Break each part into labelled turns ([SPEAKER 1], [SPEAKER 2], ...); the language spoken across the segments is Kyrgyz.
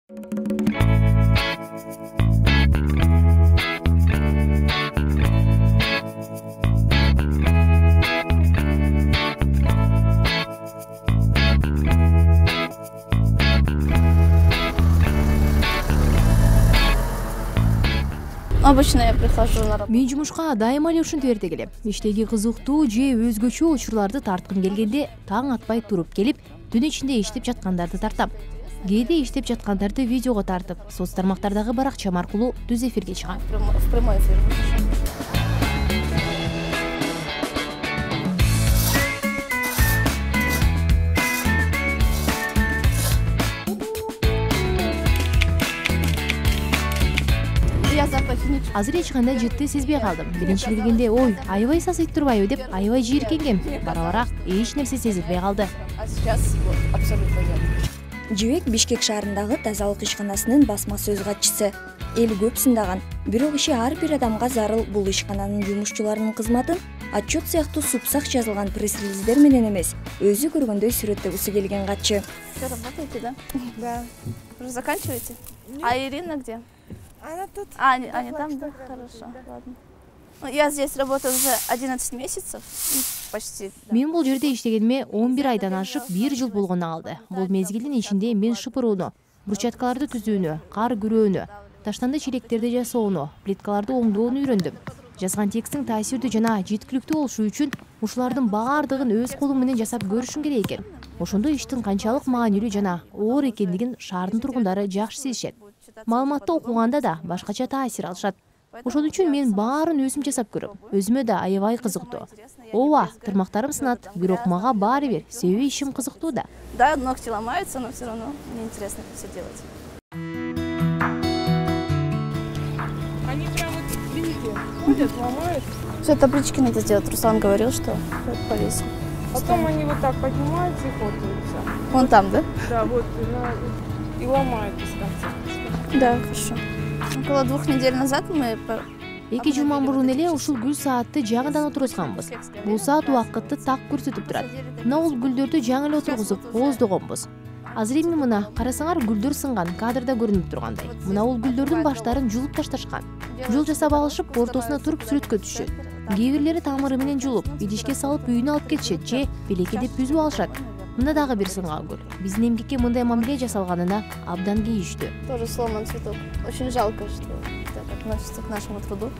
[SPEAKER 1] Обычно я прихожу на работу.
[SPEAKER 2] Мен жумушка дайыма эле ушинтип эрте келем. Иштеги кызыктуу же өзгөчө учурларды тарткым келгенде таң атпай туруп келип, түн ичинде иштеп жаткандарды тартам. Кээде иштеп жаткандарды видеого тартып, соц тармактардагы баракчам аркылуу түз эфирге чыгам.
[SPEAKER 1] В прямой эфир. Я запахи не чувствую.
[SPEAKER 2] Азыр эч кандай жытты сезбей калдым. Биринчи келгенде, ой, аябай сасыйт турбайбы деп аябай жийиркенгем. Бара-бара эч нерсе сезилбей калды.
[SPEAKER 1] А сейчас вот абсолютно нет.
[SPEAKER 3] Жибек Бишкек шаарындагы тазалык ишканасынын басма сөз катчысы. Эл көп сындаган, бирок иши ар бир адамга зарыл бул ишкананын жумушчуларынын кызматын отчет сыяктуу супсак жазылган пресс-релиздер менен эмес, өзү көргөндөй сүрөттөгүсү келген катчы.
[SPEAKER 1] Все работаете, да?
[SPEAKER 4] Да.
[SPEAKER 1] Уже заканчиваете? А Ирина где?
[SPEAKER 4] Она тут.
[SPEAKER 1] Они там, да? Хорошо, ладно. Ну, я здесь работаю уже 11 месяцев, почти. Да.
[SPEAKER 2] Мен бул жерде иштегениме 11 айдан ашып 1 жыл болгону калды. Бул мезгилдин ичинде мен шыпырууну, брусчаткаларды түзүүнү, кар күрөөнү, таштанды челектерди жасоону, плиткаларды оңдоону үйрөндүм. Жазган текстиң таасирдүү жана жеткиликтүү болушу үчүн ушулардын баардыгын өз колуң менен жасап көрүшүң керек экен. Ошондо иштин канчалык маанилүү жана оор экендигин шаардын тургундары жакшы сезишет. Маалыматты окуганда да башкача таасир алышат. Ошон үчүн мен баарын өзүм жасап көрөм. Өзүмө да аябай кызыктуу. Ооба, тырмактарым сынат, бирок мага баары бир, себеби ишим кызыктуу да.
[SPEAKER 1] Да, ногти ломаются, но все равно мне интересно это все делать.
[SPEAKER 4] Они прям вот, видите, ходят, ломают.
[SPEAKER 1] Все, таблички надо сделать. Руслан говорил, что повесим.
[SPEAKER 4] Потом они вот так поднимаются и фотаются.
[SPEAKER 1] Вон там, да?
[SPEAKER 4] Да, вот, и ломают без конца.
[SPEAKER 1] Да, хорошо. Около 2 недель назад мы...
[SPEAKER 2] 2 жума мурун эле ушул гүл саатты жаңыдан отургузганбыз. Бул саат убакытты так көрсөтүп турат. Мына бул гүлдөрдү жаңы эле отургузуп кооздогонбуз. Азыр эми мына карасаңар гүлдөр сынган, кадрда көрүнүп тургандай. Мына бул гүлдөрдүн баштарын жулуп ташташкан. Жол жасап алышып, ортосуна туруп сүрөткө түшүшөт. Кээ бирлери тамыры менен жулуп, идишке салып үйүнө алып кетишет же белекедеп бүзүп алышат. Мына дагы бир сынган гүл. Биздин эмгекке мындай мамиле жасалганына абдан кейиштүү.
[SPEAKER 1] Тоже сломан цветок. Очень жалко, что так относится к нашему труду.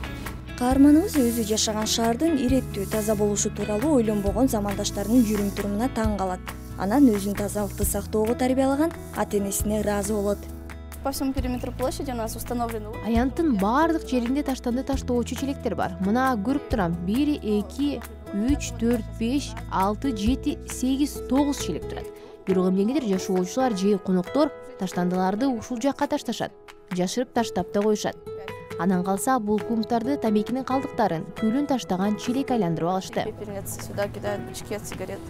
[SPEAKER 3] Каарманыбыз өзү жашаган шаардын иреттүү таза болушу тууралуу ойлонбогон замандаштарынын жүрүм-турумуна таң калат. Анан өзүн тазалыкты сактоого тарбиялаган ата-энесине ыраазы болот.
[SPEAKER 1] По всему периметру площади у нас установлены...
[SPEAKER 2] Аянттын баардык жеринде таштанды таштоочу челектер бар. Мына көрүп турам. 1, 2, 3, 4, 5, 6, 7, 8, 9 челек турат. Бирок эмнегедир жашоочулар же коноктор таштандыларды ушул жакка ташташат. Жашырып таштап да коюшат. Анан калса бул кумтарды тамекинин калдыктарын, күлүн таштаган челек айландырып алышты.
[SPEAKER 1] Пепельницы сюда кидают, бычки от сигарет.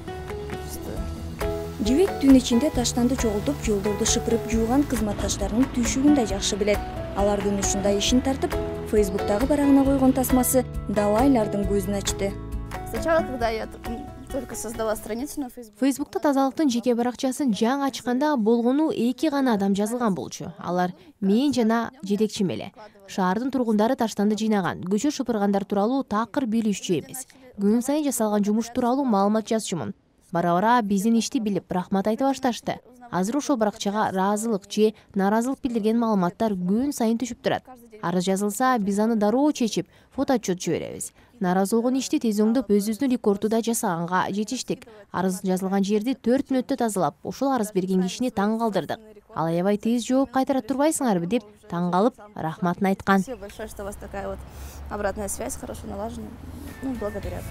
[SPEAKER 3] Жибек түн ичинде таштанды чогултуп, жолдорду шыпырып жууган кызматташтарынын түйшүгүн да жакшы билет. Алардын ушундай ишин тартып, Фейсбуктагы барагына койгон тасмасы далайлардын көзүн ачты.
[SPEAKER 1] Сначала, когда я только создала страницу на Facebook.
[SPEAKER 2] Фейсбукта тазалыктын жеке баракчасын жаңы ачканда болгону 2 гана адам жазылган болчу. Алар мен жана жетекчим эле. Шаардын тургундары таштанды жыйнаган, көчө шыпыргандар тууралуу такыр билишчү эмес. Күн сайын жасалган жумуш тууралуу маалымат жазчумун. Бара-бара биздин ишти билип, рахмат айта башташты. Азыр ошол баракчага ыраазылык же нааразылык билдирген маалыматтар күн сайын түшүп турат. Арыз жазылса, биз аны дароо чечип, фото отчет жиберебиз. Нааразы болгон ишти тез оңдоп, өзүбүздүн рекордду жасаганга жетиштик. Арыз жазылган жерди 4 мүнөттө тазалап, ошол арыз берген кишини таң калтырдык. Ал аябай тез жооп кайтара турбайсыңарбы деп таң калып, рахматын айткан.
[SPEAKER 1] Спасибо большое, что у вас такая вот обратная связь хорошо налажена. Ну, благодарят.